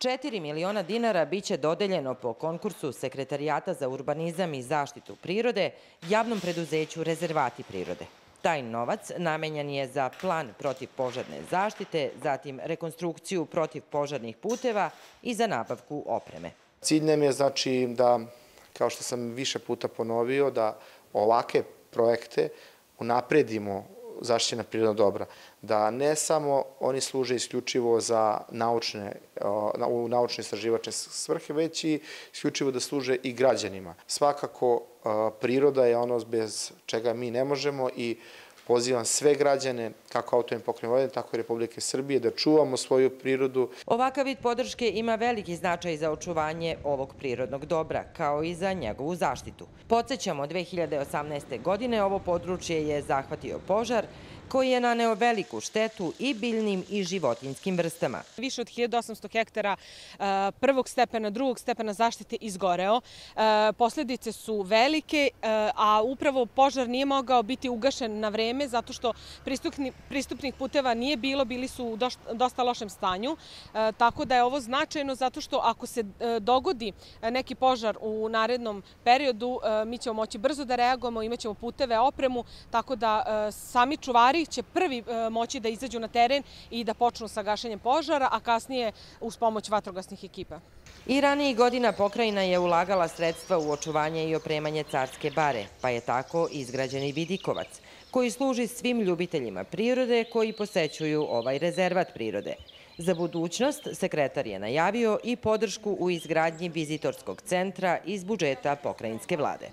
4 miliona dinara biće dodeljeno po konkursu Sekretarijata za urbanizam i zaštitu prirode javnom preduzeću Rezervati prirode. Taj novac namenjen je za plan protivpožarne zaštite, zatim rekonstrukciju protivpožarnih puteva i za nabavku opreme. Cilj nam je znači da, kao što sam više puta ponovio, da ovake projekte unapredimo zaštićena prirodna dobra, da ne samo oni služe isključivo za naučne istraživačke svrhe, već i isključivo da služe i građanima. Svakako, priroda je ono bez čega mi ne možemo i pozivam sve građane, kako AP Vojvodine, tako i Republike Srbije, da čuvamo svoju prirodu. Ovakav vid podrške ima veliki značaj za očuvanje ovog prirodnog dobra, kao i za njegovu zaštitu. Podsećamo, 2018. godine ovo područje je zahvatio požar koji je naneo veliku štetu i biljnim i životinjskim vrstama. Više od 1800 hektara prvog stepena, drugog stepena zaštite izgoreo. Posljedice su velike, a upravo požar nije mogao biti ugašen na vreme zato što pristupnih puteva nije bilo, bili su u dosta lošem stanju. Tako da je ovo značajno zato što ako se dogodi neki požar u narednom periodu, mi ćemo moći brzo da reagujemo, imaćemo puteve, opremu, tako da sami čuvari će prvi moći da izađu na teren i da počnu sa gašenjem požara, a kasnije uz pomoć vatrogasnih ekipa. I ranijih godina pokrajina je ulagala sredstva u očuvanje i opremanje Carske bare, pa je tako izgrađen i vidikovac, koji služi svim ljubiteljima prirode koji posećuju ovaj rezervat prirode. Za budućnost sekretar je najavio i podršku u izgradnji vizitorskog centra iz budžeta pokrajinske vlade.